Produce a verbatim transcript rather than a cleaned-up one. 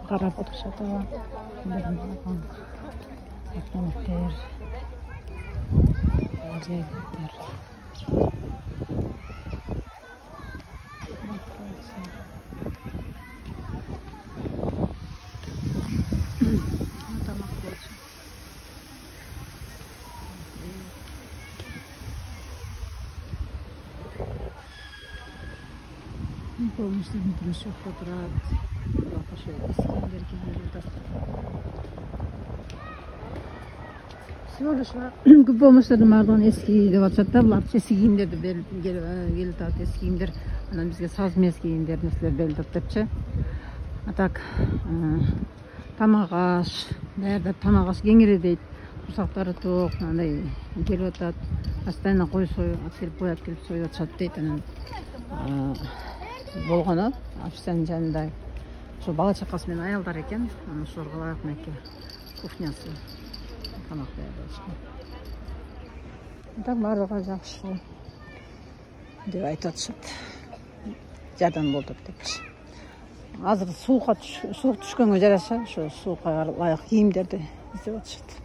Карап отурушат аба. Автоматтар. Жегиттер. Полностью внутренний квадрат. Всего лишь көп болмоштордун баардыгын эски деп атышат да, булар эски кийимдерди берип келип атат, эски кийимдер, анан бизге саз мез кийимдер нерселер берилип атыптырчы. А так тамак аш, даярда тамак аш кеңири дейт. Курсактары тоок, андай келип атат. Постоянно кой союп, келип коят, келип союп атышат дейт. Анан болгону официанттын жанында ошо бала чакасы менен аялдар экен. Анан ошолорго ылайык мынакей кухнясы тамак даярдашкан. Так баардыгы жакшы деп айтып атышат. Жардам болду депчи. Азыр суукка суук түшкөнгө жараша ошо суукка ылайык кийимдерди издеп атышат.